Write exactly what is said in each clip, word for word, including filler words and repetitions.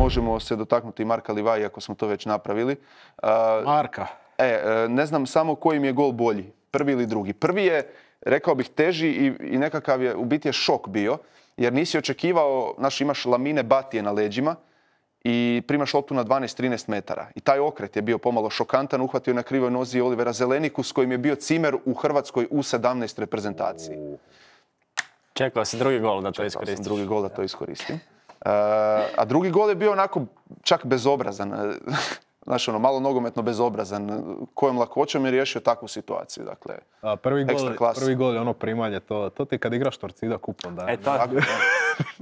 možemo se dotaknuti Marka Livaja, ako smo to već napravili. Marka. E, ne znam samo koji mi je gol bolji, prvi ili drugi. Prvi je, rekao bih, teži i, i nekakav je, u biti je šok bio, jer nisi očekivao, znaš, imaš Lamine Batije na leđima i primaš loptu na dvanaest trinaest metara. I taj okret je bio pomalo šokantan, uhvatio na krivoj nozi Olivera Zeleniku s kojim je bio cimer u Hrvatskoj U sedamnaest reprezentaciji. Čekao si drugi gol da to iskoristiš. Čekao sam drugi gol da to iskoristim. Uh, a drugi gol je bio onako čak bezobrazan. Znaš, ono, malo nogometno bezobrazan. Kojom lakoćom je riješio takvu situaciju. Dakle, a, prvi, gol, prvi gol je ono primanje. To, to ti kad igraš Torcida kup onda. E to,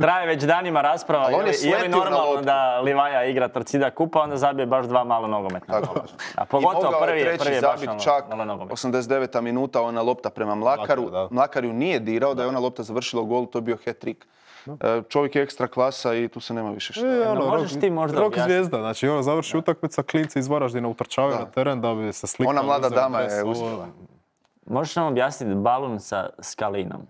traje već danima rasprava. Je li, je li normalno da Livaja igra Torcida kupa, onda zabije baš dva malo nogometna gola. A pogotovo prvi je, prvi je baš ono, čak malo nogometna. osamdeset deveta minuta ona lopta prema Mlakaru. Mlakar, Mlakar ju nije dirao, da je ona lopta završila u gol, to je bio hat-trick. Čovjek je ekstra klasa i tu se nema više šta. E, ono, možeš rok, ti možda rok objasniti. Zvijezda, znači ono završi utakmica, klinci iz Varaždina utrčavaju na teren da bi se slikali. Ona mlada dama je uspjela. Možeš nam objasniti balun sa skalinom?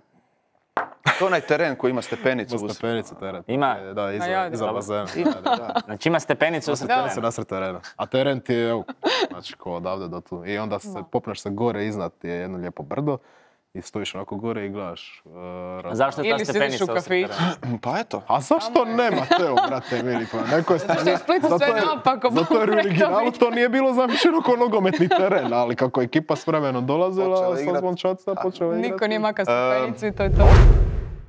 To je onaj teren koji ima stepenicu. Ima stepenicu teren. Ima? Da, iza, iza bazena. Da, da. Znači ima stepenicu sa terena. Se nasred terena. A teren ti je, evo, znači ko odavde do tu. I onda se popneš se gore iznad, je jedno lijepo brdo. I stojiš onako gore i gledaš. Uh, Zašto je ta stepenica usred terena? Pa eto. A zašto nema Teo, brate mili? Pa neko je Zašto je Split sve naopako? Zato jer u originalu to nije bilo zamišljeno kao nogometni teren, ali kako je ekipa s vremenom dolazila, sa zvončaca počela igrati. Niko nije maka stepenicu i to je to.